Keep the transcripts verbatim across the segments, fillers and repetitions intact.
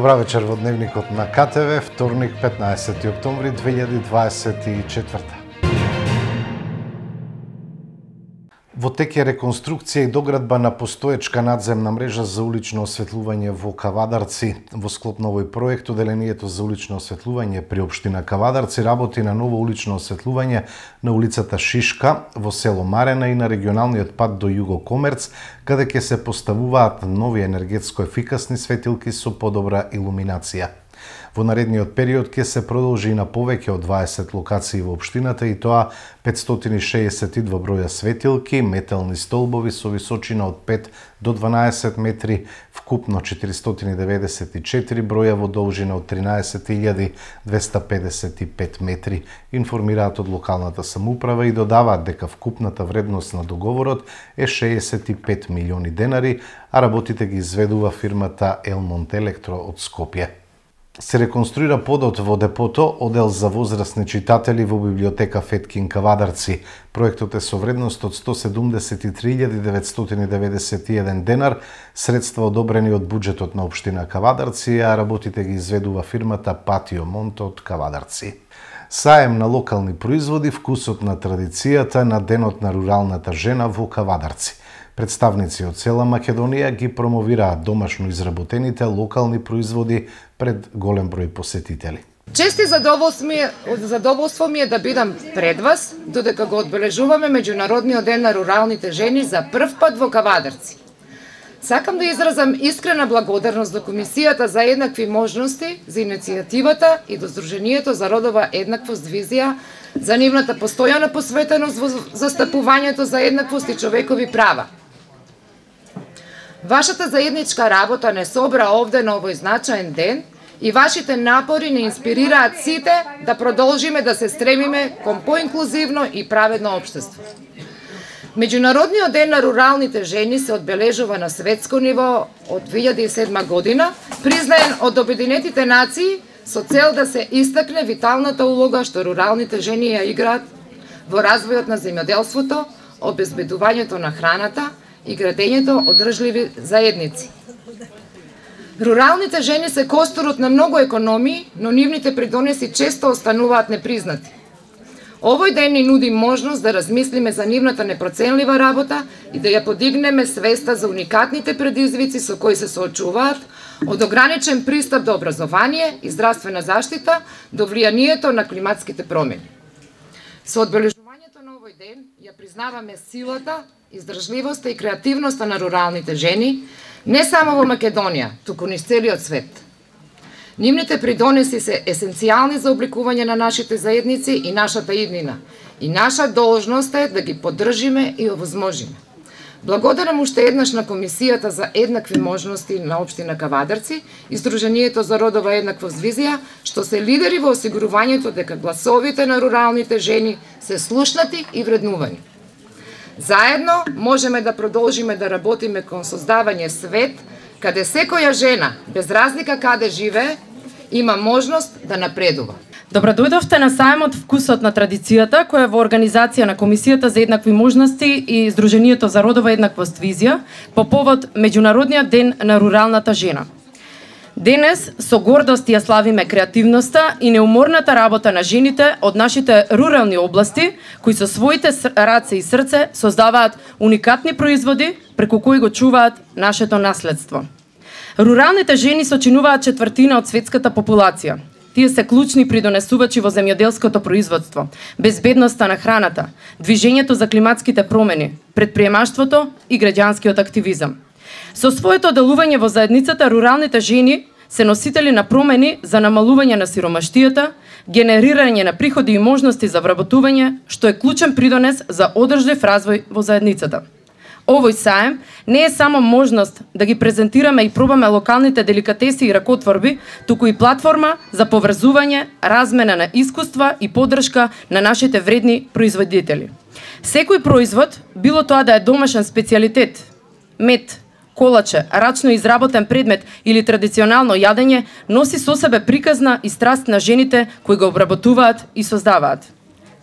Добра вечер во Дневникот на К Т В, вторник, петнаесети октомври две илјади дваесет и четврта. Во тек е реконструкција и доградба на постоечка надземна мрежа за улично осветлување во Кавадарци. Во склоп на овој проект, Оделението за улично осветлување при општина Кавадарци работи на ново улично осветлување на улицата Шишка, во село Марена и на регионалниот пат до Југо Комерц, каде ќе се поставуваат нови енергетско ефикасни светилки со подобра илуминација. Во наредниот период ќе се продолжи на повеќе од дваесет локации во општината и тоа петстотини шеесет и два броја светилки, метални столбови со височина од пет до дванаесет метри, вкупно четиристотини деветдесет и четири броја во должина од тринаесет илјади двеста педесет и пет метри, информираат од локалната самоуправа и додаваат дека вкупната вредност на договорот е шеесет и пет милиони денари, а работите ги изведува фирмата Елмонт Електро од Скопје. Се реконструира подот во депото, одел за возрастни читатели во библиотека Феткин Кавадарци. Проектот е со вредност од сто седумдесет и три илјади деветстотини деветдесет и еден денар, средства одобрени од буџетот на општина Кавадарци, а работите ги изведува фирмата Патио Монто од Кавадарци. Саем на локални производи, вкусот на традицијата на Денот на руралната жена во Кавадарци. Представници од цела Македонија ги промовираат домашно изработените локални производи пред голем број посетители. Чести задоволство ми е, задоволство ми е да бидам пред вас, додека го одбележуваме Меѓународниот ден на руралните жени за прв пат во Кавадарци. Сакам да изразам искрена благодарност до Комисијата за еднакви можности, за иницијативата и до Сдруженијето за родова еднаквост визија, за нивната постојана посветеност во застапувањето за еднаквост и човекови права. Вашата заедничка работа не собра овде на овој значаен ден и вашите напори не инспирираат сите да продолжиме да се стремиме кон поинклузивно и праведно општество. Меѓународниот ден на руралните жени се одбележува на светско ниво од две илјади и седма година, признаен од Обединетите нации со цел да се истакне виталната улога што руралните жени ја играат во развојот на земјоделството, обезбедувањето на храната и градењето одржливи заедници. Руралните жени се костурот на многу економии, но нивните придонеси често остануваат непризнати. Овој ден ни нуди можност да размислиме за нивната непроценлива работа и да ја подигнеме свеста за уникатните предизвици со кои се соочуваат, од ограничен пристап до образование и здравствена заштита до влијанието на климатските промени. Со одбележувањето на овој ден ја признаваме силата, издржливоста и креативноста на руралните жени, не само во Македонија, туку низ целиот свет. Нивните придонеси се есенцијални за обликување на нашите заедници и нашата иднина, и наша должност е да ги поддржиме и овозможиме. Благодарам уште еднаш на Комисијата за еднакви можности на општина Кавадарци и Сдруженијето за родова еднаквост визија, што се лидери во осигурувањето дека гласовите на руралните жени се слушнати и вреднувани. Заедно можеме да продолжиме да работиме кон создавање свет каде секоја жена, без разлика каде живее, има можност да напредува. Добро дојдовте на саемот Вкусот на традицијата, која е во организација на Комисијата за еднакви можности и Сдруженијето за родова еднаквост визија по повод Меѓународниот ден на руралната жена. Денес со гордост ја славиме креативноста и неуморната работа на жените од нашите рурални области, кои со своите раце и срце создаваат уникатни производи преку кои го чуваат нашето наследство. Руралните жени сочинуваат четвртина од светската популација. Тие се клучни придонесувачи во земјоделското производство, безбедноста на храната, движењето за климатските промени, предприемаштвото и граѓанскиот активизам. Со своето делување во заедницата, руралните жени се носители на промени за намалување на сиромаштијата, генерирање на приходи и можности за вработување, што е клучен придонес за одржлив развој во заедницата. Овој саем не е само можност да ги презентираме и пробаме локалните деликатеси и ракотворби, туку и платформа за поврзување, размена на искуства и поддршка на нашите вредни производители. Секој производ, било тоа да е домашен специјалитет, мед, колаче, рачно изработен предмет или традиционално јадење, носи со себе приказна и страст на жените кои го обработуваат и создаваат.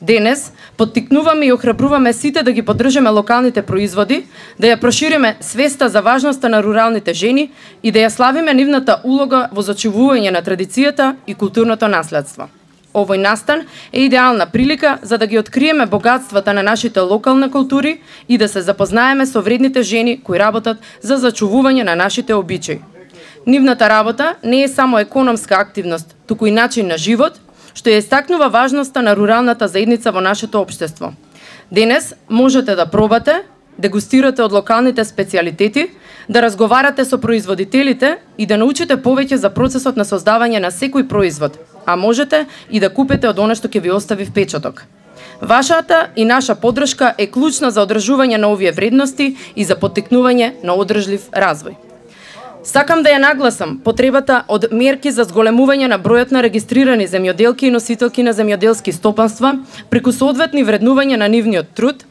Денес поттикнуваме и охрабруваме сите да ги поддржаме локалните производи, да ја прошириме свеста за важноста на руралните жени и да ја славиме нивната улога во зачувување на традицијата и културното наследство. Овој настан е идеална прилика за да ги откриеме богатствата на нашите локални култури и да се запознаеме со вредните жени кои работат за зачувување на нашите обичаи. Нивната работа не е само економска активност, туку и начин на живот, што ја истакнува важноста на руралната заедница во нашето општество. Денес можете да пробате, дегустирате од локалните специјалитети, да разговарате со производителите и да научите повеќе за процесот на создавање на секој производ, а можете и да купите од она што ќе ви остави впечаток. Вашата и наша поддршка е клучна за одржување на овие вредности и за поттикнување на одржлив развој. Сакам да ја нагласам потребата од мерки за зголемување на бројот на регистрирани земјоделки и носителки на земјоделски стопанства преку соодветни вреднување на нивниот труд,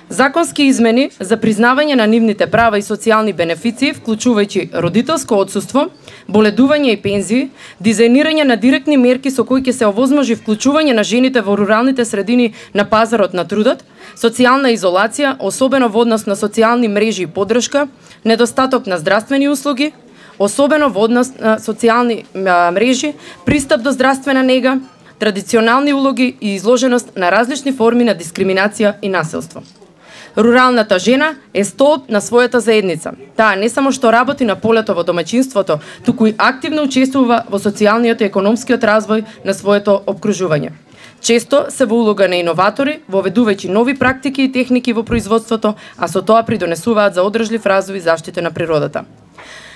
законски измени за признавање на нивните права и социјални бенефиции, вклучувајќи родителско отсуство, боледување и пензии, дизајнирање на директни мерки со кои ќе се овозможи вклучување на жените во руралните средини на пазарот на трудот, социјална изолација, особено во однос на социјални мрежи и поддршка, недостаток на здравствени услуги, особено во однос на социјални мрежи, пристап до здравствена нега, традиционални улоги и изложеност на различни форми на дискриминација и насилство. Руралната жена е столб на својата заедница. Таа не само што работи на полето во домаќинството, туку и активно учествува во социјалниот и економскиот развој на своето опкружување. Често се во улога на иноватори, воведувајќи нови практики и техники во производството, а со тоа придонесуваат за одржлив развој и заштита на природата.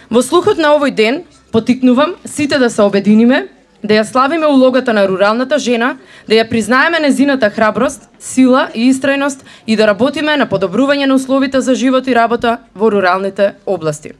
Во слухот на овој ден, поттикнувам сите да се обединиме, да ја славиме улогата на руралната жена, да ја признаеме незината храброст, сила и истрајност и да работиме на подобрување на условите за живот и работа во руралните области.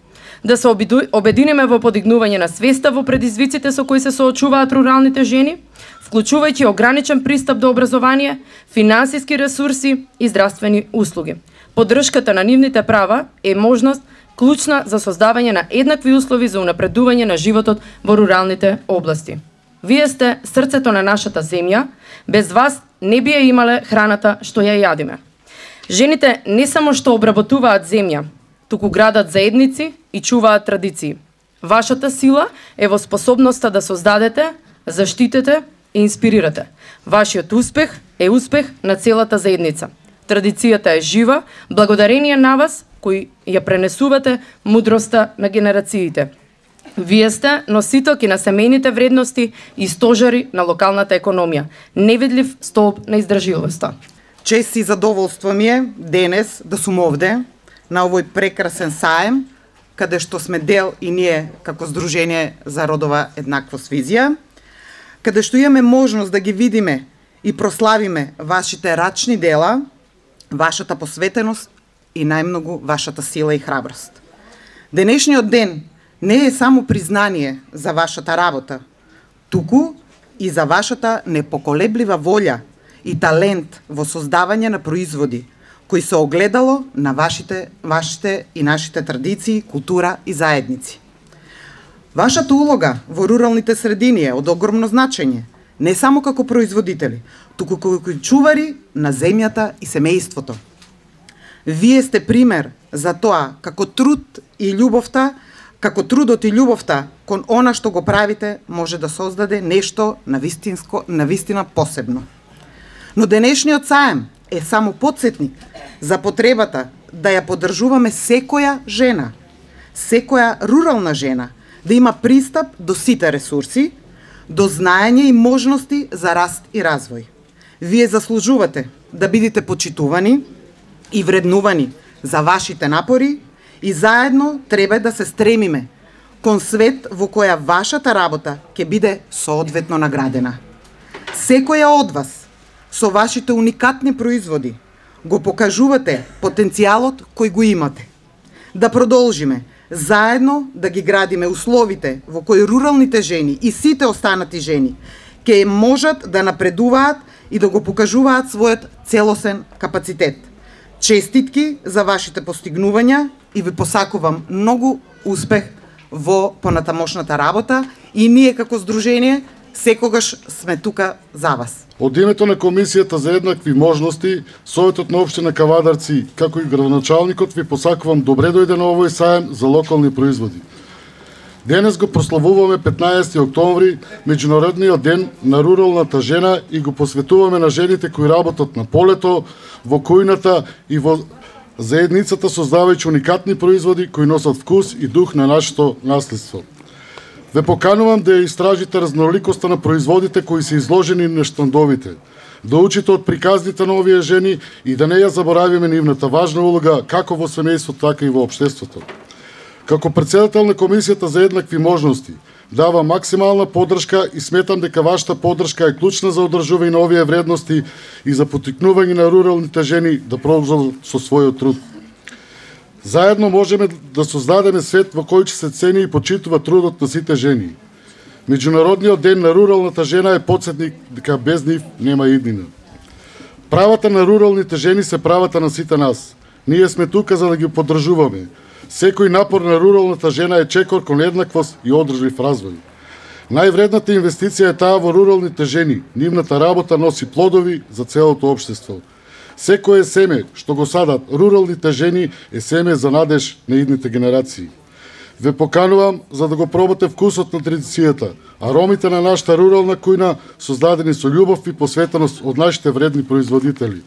Да се обединиме во подигнување на свеста во предизвиците со кои се соочуваат руралните жени, вклучувајќи ограничен пристап до образование, финансиски ресурси и здравствени услуги. Поддршката на нивните права е можност клучна за создавање на еднакви услови за унапредување на животот во руралните области. Вие сте срцето на нашата земја, без вас не би ја имале храната што ја јадиме. Жените не само што обработуваат земја, туку градат заедници и чуваат традиции. Вашата сила е во способноста да создадете, заштитите и инспирирате. Вашиот успех е успех на целата заедница. Традицијата е жива, благодарение на вас кои ја пренесувате мудроста на генерациите. Вие сте носителки на семејните вредности и стожари на локалната економија, невидлив столб на издржливоста. Чест и задоволство ми е денес да сум овде на овој прекрасен саем, каде што сме дел и ние како Здружение за родова еднаквост визија, каде што имаме можност да ги видиме и прославиме вашите рачни дела, вашата посветеност и најмногу вашата сила и храброст. Денешниот ден не е само признание за вашата работа, туку и за вашата непоколеблива волја и талент во создавање на производи, кои се огледало на вашите, вашите и нашите традиции, култура и заедници. Вашата улога во руралните средини е од огромно значење, не само како производители, туку како чувари на земјата и семејството. Вие сте пример за тоа како труд и љубовта, како трудот и љубовта кон она што го правите може да создаде нешто на вистинско, на вистина посебно. Но денешниот саем е само потсетник за потребата да ја поддржуваме секоја жена, секоја рурална жена, да има пристап до сите ресурси, до знаење и можности за раст и развој. Вие заслужувате да бидете почитувани и вреднувани за вашите напори и заедно треба да се стремиме кон свет во која вашата работа ќе биде соодветно наградена. Секоја од вас со вашите уникатни производи го покажувате потенцијалот кој го имате. Да продолжиме заедно да ги градиме условите во кои руралните жени и сите останати жени ќе можат да напредуваат и да го покажуваат својот целосен капацитет. Честитки за вашите постигнувања и ви посакувам многу успех во понатамошната работа и ние како Здружение секогаш сме тука за вас. Од името на Комисијата за еднакви можности, Советот на општина Кавадарци, како и градоначалникот, ви посакувам добре дојде на овој саем за локални производи. Денес го прославуваме петнаесети октомври, Меѓународниот ден на руралната жена, и го посветуваме на жените кои работат на полето, во кујната и во заедницата, создавајќи уникатни производи кои носат вкус и дух на нашето наследство. Ве поканувам да ја истражите разноликоста на производите кои се изложени на штандовите, да учите од приказните на овие жени и да не ја заборавиме нивната важна улога како во семејството, така и во општеството. Како председател на Комисијата за еднакви можности, дава максимална поддршка и сметам дека вашата поддршка е клучна за одржување на овие вредности и за поттикнување на руралните жени да продолжат со својот труд. Заедно можеме да создадеме свет во кој ќе се цени и почитува трудот на сите жени. Меѓународниот ден на руралната жена е потсетник дека без нив нема иднина. Правата на руралните жени се правата на сите нас. Ние сме тука за да ги поддржуваме. Секој напор на руралната жена е чекор кон еднаквост и одржлив развој. Највредната инвестиција е таа во руралните жени. Нивната работа носи плодови за целото општество. Секое семе што го садат руралните жени е семе за надеж на идните генерации. Ве поканувам за да го пробате вкусот на традицијата, аромите на нашата рурална кујна, создадени со љубов и посветеност од нашите вредни производители.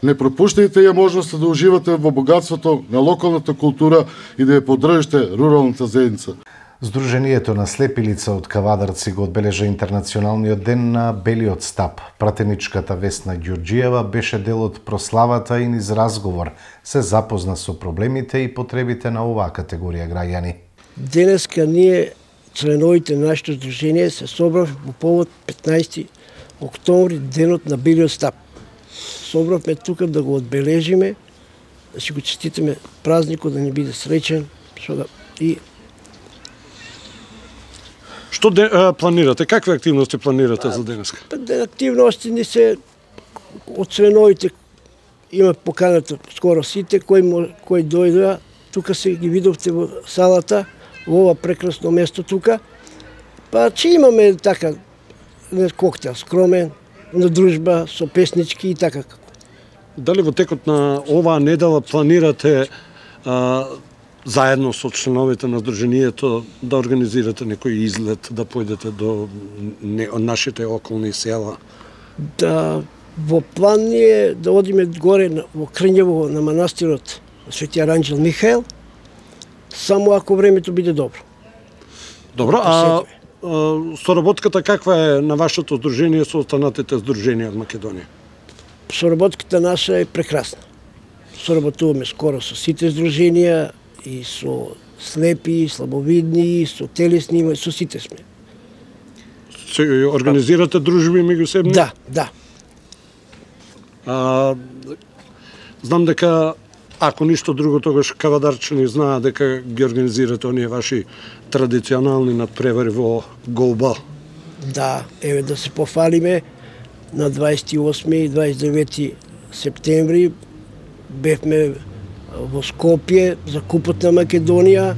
Не пропуштајте ја можноста да уживате во богатството на локалната култура и да ја поддржите руралната заедница. Сдруженијето на слепи лица од Кавадарци го одбележа Интернационалниот ден на белиот стап. Пратеничката Весна Ѓорѓиева беше дел од прославата и низ разговор се запозна со проблемите и потребите на оваа категорија граѓани. Денеска ние, членовите на нашето сдружение, се собравме по повод петнаесети октомври, денот на белиот стап. Собравме тука да го одбележиме, да си го честитаме празникот, да ни биде среќен и Што де, а, планирате? Какви активности планирате за денеска? Активности ни се од членовите, има поканата скоро сите кои кои дојдоа, тука се ги видовте во салата, во ова прекрасно место тука. Па че имаме така коктел скромен, на дружба со песнички и така како. Дали во текот на оваа недела планирате а, заедно со членовите на Сдруженијето да организирате некој излет, да појдете до не, нашите околни села? Да, во план ни е да одиме горе во Крњево на манастирот Свети Аранџел Михаел, само ако времето биде добро. Добро, а, а соработката каква е на вашето сдружение со останатите сдруженија од Македонија? Соработката наша е прекрасна. Соработуваме скоро со сите сдруженија, и со слепи, слабовидни, со телесни, со сите сме. Се организирате дружби меѓусебни? Да, да. А, знам дека, ако ништо друго, тогаш кавадарчани знаат дека ги организирате оние ваши традиционални надпревари во голба. Да, еве да се пофалиме, на дваесет и осми и дваесет и девети септември бевме во Скопје за Купот на Македонија,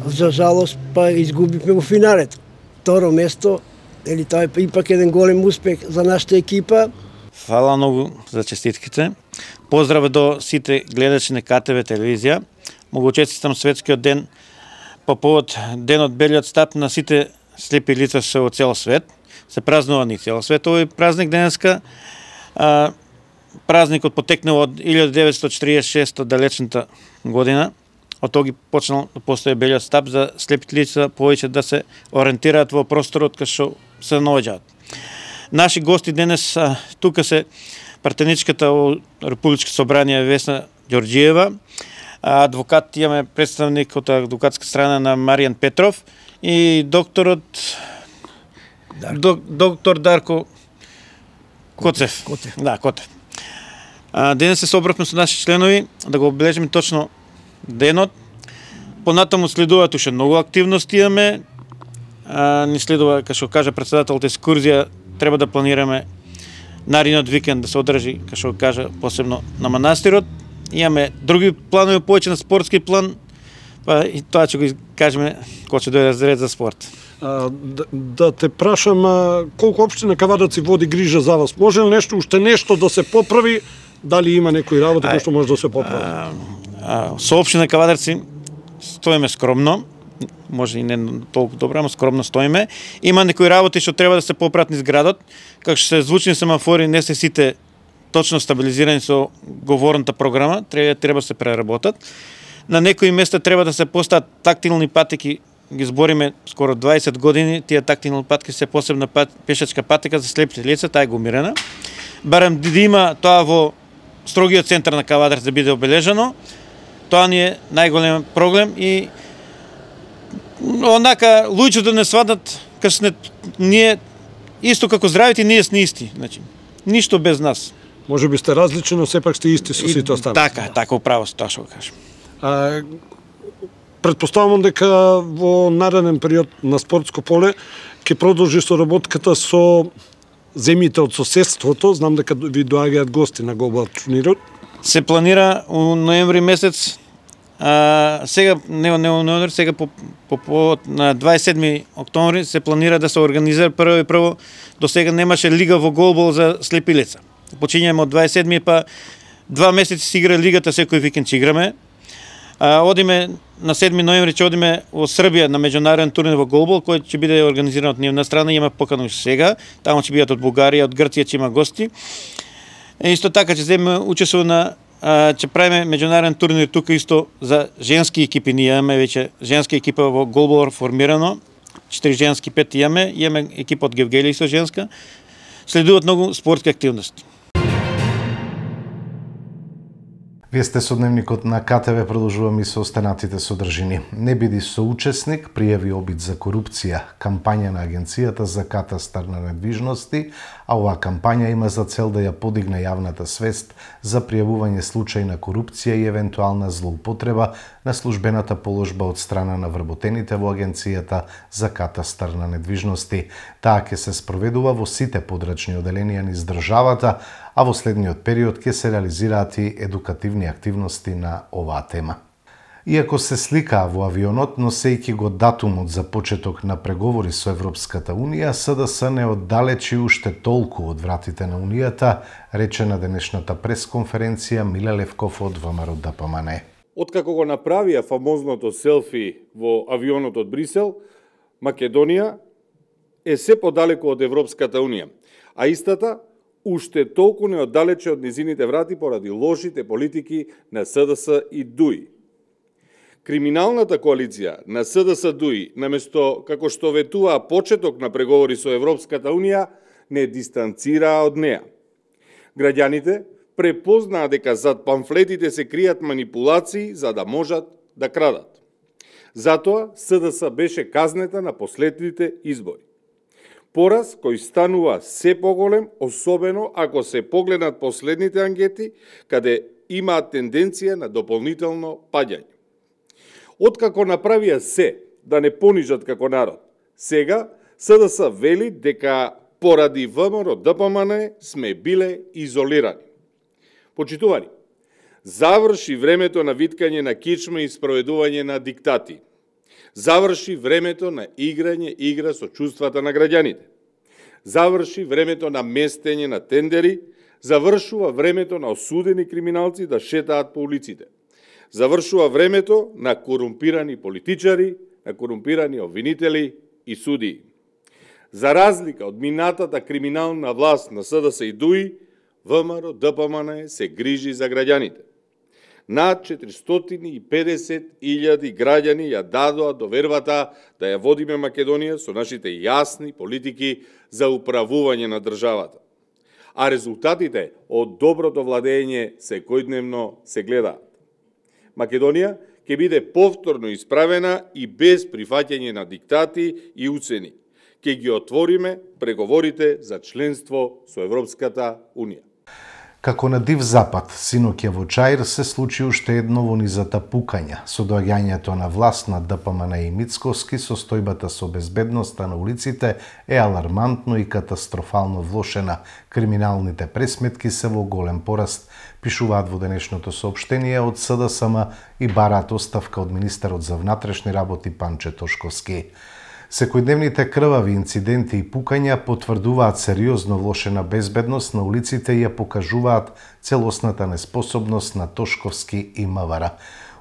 за жалост па изгубивме во финалето. Второ место, ели тоа е ипак еден голем успех за нашата екипа. Фала многу за честитките. Поздрав до сите гледачи на Ка Те Ве телевизија. Му го честитам светскиот ден по повод денот белиот стап на сите слепи лица со цел свет. Се празнува ни цел свет овој празник денеска. А, Празникот потекнал од илјада деветстотини четиридесет и шеста далечната година. Од тој почнал да постои белиот стап за слепите лица повеќе да се ориентираат во просторот кај што се наоѓаат. Наши гости денес а, тука се пратеничката во Републичко собрание Весна Ѓорѓиева, адвокат, имаме представник од адвокатска страна на Маријан Петров и докторот Дарко. доктор Дарко Коцев. Котев. Да, Котев. Денес се собравме со наши членови да го обележиме точно денот. Понатаму следуваат уште многу активности имаме. А, ни следува, како што кажа председателот, екскурзија треба да планираме наредниот викенд да се одржи, како што кажа, посебно на манастирот. Имаме други планови, повеќе на спортски план, па и тоа ќе го кажеме кога ќе дојде ред за спорт. А, да, да те прашам, а, колку општина Кавадарци води грижа за вас? Може ли нешто, уште нешто да се поправи? Дали има некои работи кои што може да се поправи? А, а, со општина Кавадарци стоиме скромно, може и не толку добро, ама скромно стоиме. Има некои работи што треба да се поправат низ градот, како што се звучни семафори, не се сите точно стабилизирани со говорната програма, треба треба да се преработат. На некои места треба да се постават тактилни патеки, ги збориме скоро дваесет години, тие тактилни патеки се посебна пат, пешачка патека за слепите лица, таа е гумирана. Барем да има тоа во строгиот центар на Кавадарци да биде обележано, тоа ни е најголем проблем и онака луѓето не сватат кај ние исто како здравите, ние сме исти, значи ништо без нас. Може би сте различни, но сепак сте исти со сите останати. Така, така управо тоа што го кажам. А, предпоставувам дека во нареден период на спортско поле ќе продолжи соработката со земјите од соседството. Знам дека ви доаѓаат гости на Глобал турнирот. Се планира у ноември месец. А, сега не не ноември, сега по по, по на дваесет и седми октомври се планира да се организира прво и прво. До сега немаше лига во голбол за слепи лица. Почињаме од дваесет и седми, па два месеци си игра лигата, секој викенд ќе играме. А, одиме на седми ноември ќе одиме во Србија на меѓународен турнир во голбол, кој ќе биде организиран од нивна страна, има покана сега. Таму ќе бидат од Бугарија, од Грција ќе има гости. Е, исто така ќе земеме учество на а, ќе правиме меѓународен турнир тука исто за женски екипи. Ние имаме веќе женска екипа во голбол формирано. Четири женски, пет имаме, имаме екипа од Гевгели со женска. Следуваат многу спортски активности. Вие сте со дневникот на КТВ, продолжуваме и со останатите содржини. Не биди соучесник, пријави обид за корупција, кампања на Агенцијата за катастар на недвижности, а оваа кампања има за цел да ја подигне јавната свест за пријавување случаи на корупција и евентуална злоупотреба на службената положба од страна на вработените во Агенцијата за катастар на недвижности. Таа ќе се спроведува во сите подрачни оделенија низ државата, а во следниот период ќе се реализираат и едукативни активности на оваа тема. Иако се сликаа во авионот, носејќи го датумот за почеток на преговори со Европската Унија, СДС не оддалечи уште толку од вратите на Унијата, рече на денешната пресконференција Миле Левков од ВМРО Д П М Н. Откако го направија фамозното селфи во авионот од Брисел, Македонија е се подалеку од Европската Унија, а истата уште толку не оддалече од низините врати поради лошите политики на СДС и ДУИ. Криминалната коалиција на СДС ДУИ, наместо како што ветуваа почеток на преговори со Европската Унија, не дистанцираа од неа. Граѓаните препознаа дека зад памфлетите се кријат манипулации за да можат да крадат. Затоа СДС беше казнета на последните избори. Пораз кој станува се поголем, особено ако се погледнат последните анкети, каде имаат тенденција на дополнително паѓање. Откако направија се да не понижат како народ, сега СДС вели дека поради ВМРО Д П М Н сме биле изолирани. Почитувани, заврши времето на виткање на кичма и спроведување на диктати. Заврши времето на играње игра со чувствата на граѓаните. Заврши времето на местење на тендери, завршува времето на осудени криминалци да шетаат по улиците. Завршува времето на корумпирани политичари, на корумпирани обвинители и судии. За разлика од минатата криминална власт на СДС и ДУИ, ВМРО Д П М Н се грижи за граѓаните. Над четиристотини и педесет илјади граѓани ја дадоа довербата да ја водиме Македонија со нашите јасни политики за управување на државата. А резултатите од доброто владење секојдневно се гледаат. Македонија ќе биде повторно исправена и без прифаќање на диктати и уцени. Ќе ги отвориме преговорите за членство со Европската Унија. Како на Див Запад, синоќа во Чаир се случи уште едно во низата пукања. Со доаѓањето на власт на Д П М Н и Мицковски, состојбата со безбедноста на улиците е алармантно и катастрофално влошена. Криминалните пресметки се во голем пораст, пишуваат во денешното соопштение од С Д С М и бараат оставка од министерот за внатрешни работи Панче Тошковски. Секојдневните крвави инциденти и пукања потврдуваат сериозно влошена безбедност на улиците и ја покажуваат целосната неспособност на Тошковски и Мавара.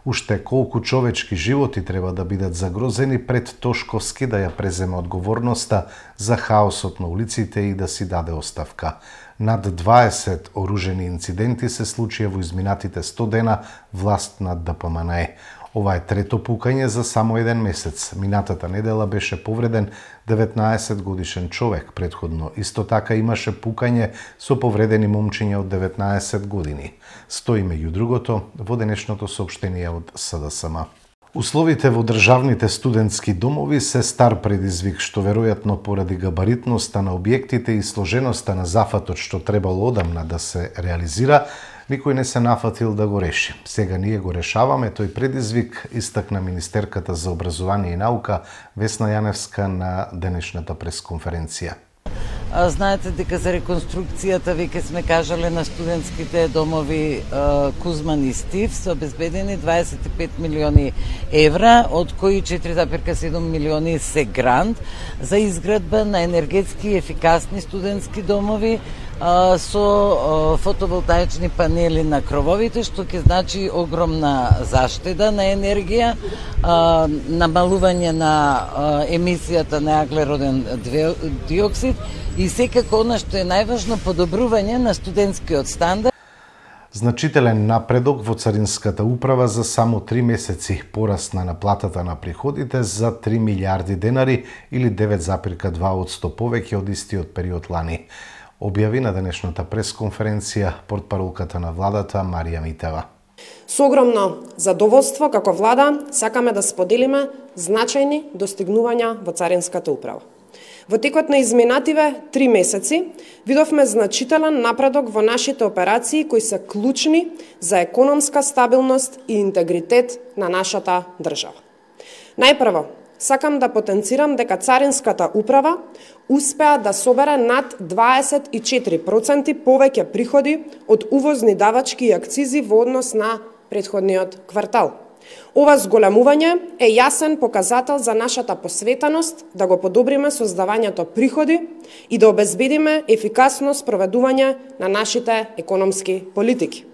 Уште колку човечки животи треба да бидат загрозени пред Тошковски да ја преземе одговорноста за хаосот на улиците и да си даде оставка. Над дваесет оружени инциденти се случија во изминатите сто дена власт над Д П М Н Е. Ова е трето пукање за само еден месец. Минатата недела беше повреден деветнаесет годишен човек. Претходно исто така имаше пукање со повредени момчиња од деветнаесет години. Стои меѓу другото во денешното соопштение од С Д С М. Условите во државните студентски домови се стар предизвик, што веројатно поради габаритноста на објектите и сложеноста на зафатот што требало одамна да се реализира, никој не се нафатил да го реши. Сега ние го решаваме тој предизвик, истакна министерката за образование и наука Весна Јаневска на денешната пресконференција. Знаете дека за реконструкцијата веќе сме кажале на студентските домови Кузман и Стив се обезбедени дваесет и пет милиони евра, од кои четири зарез и седум милиони се грант за изградба на енергетски ефикасни студентски домови со фотоволтаични панели на крововите, што ќе значи огромна заштеда на енергија, намалување на емисијата на аглероден диоксид и секако она што е најважно, подобрување на студентскиот стандард. Значителен напредок во Царинската управа за само три месеци, пораст на наплатата на приходите за три милиарди денари или девет зарез и два одсто повеќе од истиот период лани. Објави на денешната пресконференција портпаролката на владата Марија Митева. Со огромно задоволство како влада сакаме да споделиме значајни достигнувања во Царинската управа. Во текот на изминативе три месеци видовме значителен напредок во нашите операции кои се клучни за економска стабилност и интегритет на нашата држава. Најпрво, сакам да потенцирам дека Царинската управа успеа да собере над дваесет и четири проценти повеќе приходи од увозни давачки и акцизи во однос на претходниот квартал. Ова зголемување е јасен показател за нашата посветеност да го подобриме создавањето приходи и да обезбедиме ефикасно спроведување на нашите економски политики.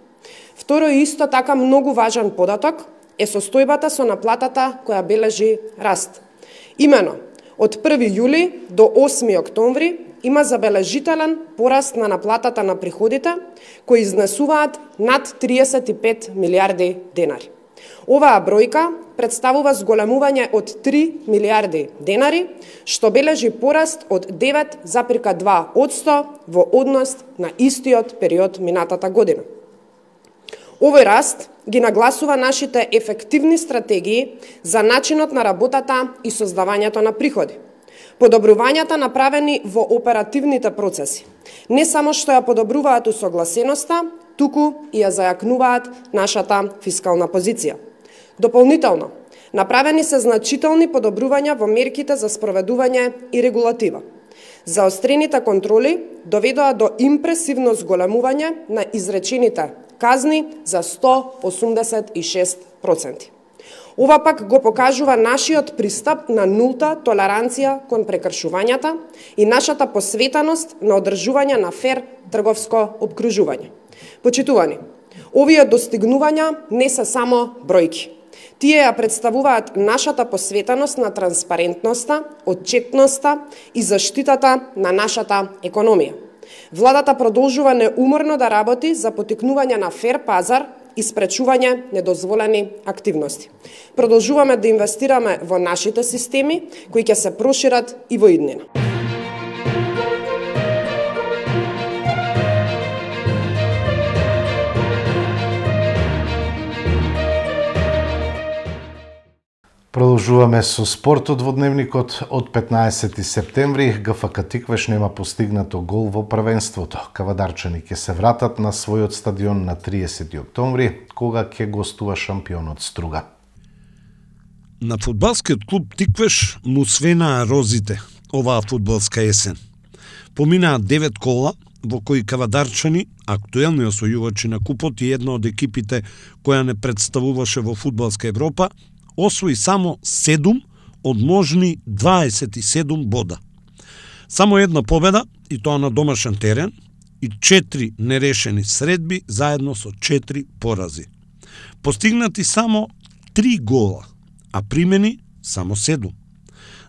Второ и исто така многу важен податок е состојбата со наплатата која бележи раст. Имено, од први јули до осми октомври има забележителен пораст на наплатата на приходите, кои изнесуваат над триесет и пет милиарди денари. Оваа бројка представува зголемување од три милиарди денари, што бележи пораст од девет зарез и два одсто во однос на истиот период минатата година. Овој раст ги нагласува нашите ефективни стратегии за начинот на работата и создавањето на приходи. Подобрувањата направени во оперативните процеси не само што ја подобруваат усогласеноста, туку и ја зајакнуваат нашата фискална позиција. Дополнително, направени се значителни подобрувања во мерките за спроведување и регулатива. Заострените контроли доведоа до импресивно зголемување на изречените казни за сто осумдесет и шест проценти. Ова пак го покажува нашиот пристап на нулта толеранција кон прекршувањата и нашата посветеност на одржување на фер трговско опкружување. Почитувани, овие достигнувања не се само бројки. Тие ја представуваат нашата посветеност на транспарентноста, отчетноста и заштитата на нашата економија. Владата продолжува неуморно да работи за поттикнување на фер пазар и спречување недозволени активности. Продолжуваме да инвестираме во нашите системи, кои ќе се прошират и во иднина. Продолжуваме со спортот во дневникот. Од петнаесети септември Г Ф К Тиквеш нема постигнато гол во првенството. Кавадарчани ќе се вратат на својот стадион на триесети октомври, кога ќе гостува шампионот Струга. На фудбалскиот клуб Тиквеш му свенаа розите оваа фудбалска есен. Поминаа девет кола, во кои кавадарчани, актуелни освојувачи на купот и една од екипите која не представуваше во фудбалска Европа, освои само седум од можни дваесет и седум бода. Само една победа, и тоа на домашен терен, и четири нерешени средби заедно со четири порази. Постигнати само три гола, а примени само седум.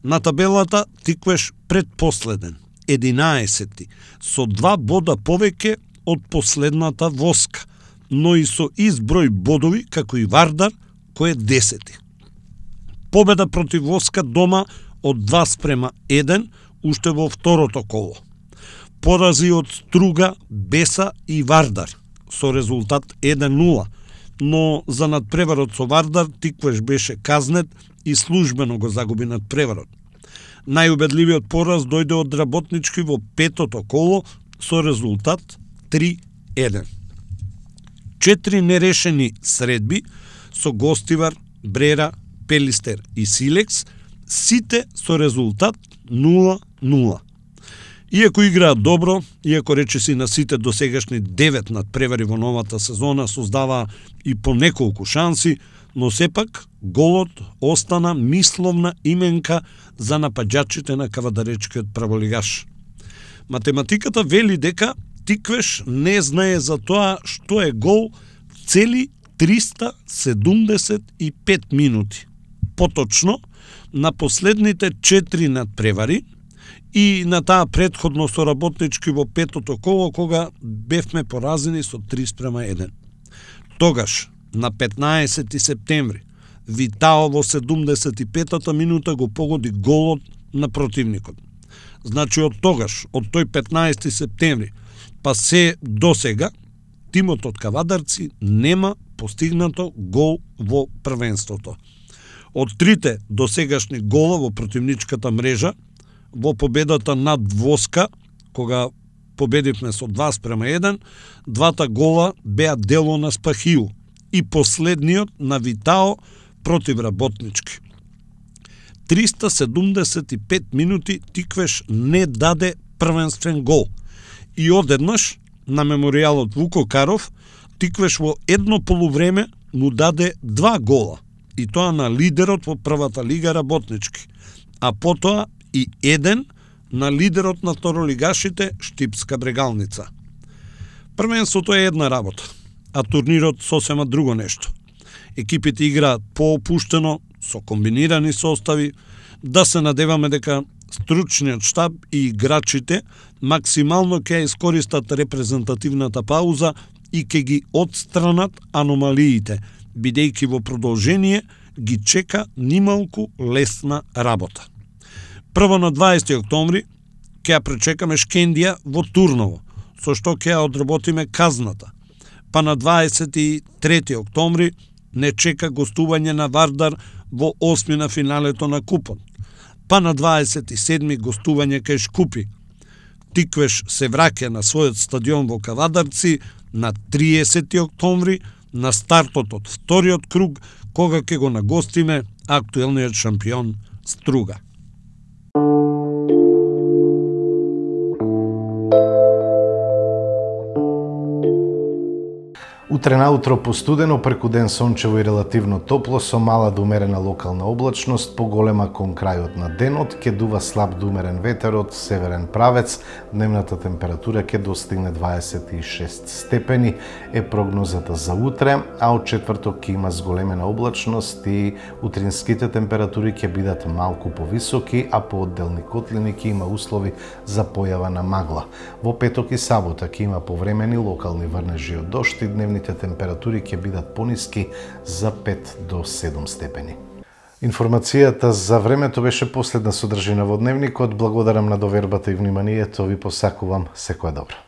На табелата Тиквеш предпоследен, единаесети, со два бода повеќе од последната Воска, но и со изброј бодови како и Вардар, кој е десети. Победа против Воска дома од два спрема еден, уште во второто коло. Порази од Струга, Беса и Вардар, со резултат еден нула, но за надпреварот со Вардар Тиквеш беше казнет и службено го загуби надпреварот. Најубедливиот пораз дојде од Работнички во петото коло со резултат три еден. Четири нерешени средби со Гостивар, Брера, Пелистер и Силекс, сите со резултат нула нула. Иако играат добро, иако речиси на сите досегашни девет надпревари во новата сезона создаваа и по неколку шанси, но сепак голот остана мисловна именка за напаѓачите на кавадаречкиот праволигаш. Математиката вели дека Тиквеш не знае за тоа што е гол цели триста седумдесет и пет минути. Поточно, на последните четири надпревари и на таа предходно со Работнички во петото коло, кога бевме поразени со три спрема еден. Тогаш, на петнаесети септември, Витао во седумдесет и петата минута го погоди голот на противникот. Значи од тогаш, од тој петнаесети септември, па се досега, тимот од Кавадарци нема постигнато гол во првенството. Од трите досегашни гола во противничката мрежа, во победата над Воска, кога победивме со два спрема еден, двата гола беа дело на Спахиу и последниот на Витао против Работнички. триста седумдесет и пет минути Тиквеш не даде првенствен гол. И одеднаш, на меморијалот Вуко Каров, Тиквеш во едно полувреме му даде два гола, и тоа на лидерот во првата лига Работнички, а потоа и еден на лидерот на второлигашите Штипска Брегалница. Првенството е една работа, а турнирот сосема друго нешто. Екипите играат поопуштено, со комбинирани состави, да се надеваме дека стручниот штаб и играчите максимално ќе искористат репрезентативната пауза и ќе ги отстранат аномалиите, бидејќи во продолжение ги чека нималку лесна работа. Прво на дваесети октомври ќе ја пречекаме Шкендија во Турново, со што ќе ја одработиме казната. Па на дваесет и трети октомври не чека гостување на Вардар во осми на финалето на купот. Па на дваесет и седми гостување кај Шкупи. Тиквеш се враќа на својот стадион во Кавадарци на триесети октомври на стартот од вториот круг, кога ќе го нагостиме актуелниот шампион Струга. Утре наутро постудено, преку ден сончево и релативно топло, со мала до умерена локална облачност, поголема кон крајот на денот, ќе дува слаб до умерен ветер од северен правец, дневната температура ќе достигне дваесет и шест степени, е прогнозата за утре, а од четврток ќе има зголемена облачност и утринските температури ќе бидат малку повисоки, а по одделни котлини ќе има услови за појава на магла. Во петок и сабота ќе има повремени локални врнежи од дожд и дневните температури ќе бидат пониски за пет до седум степени. Информацијата за времето беше последна содржина во дневникот. Благодарам на довербата и вниманието. Ви посакувам секое добро.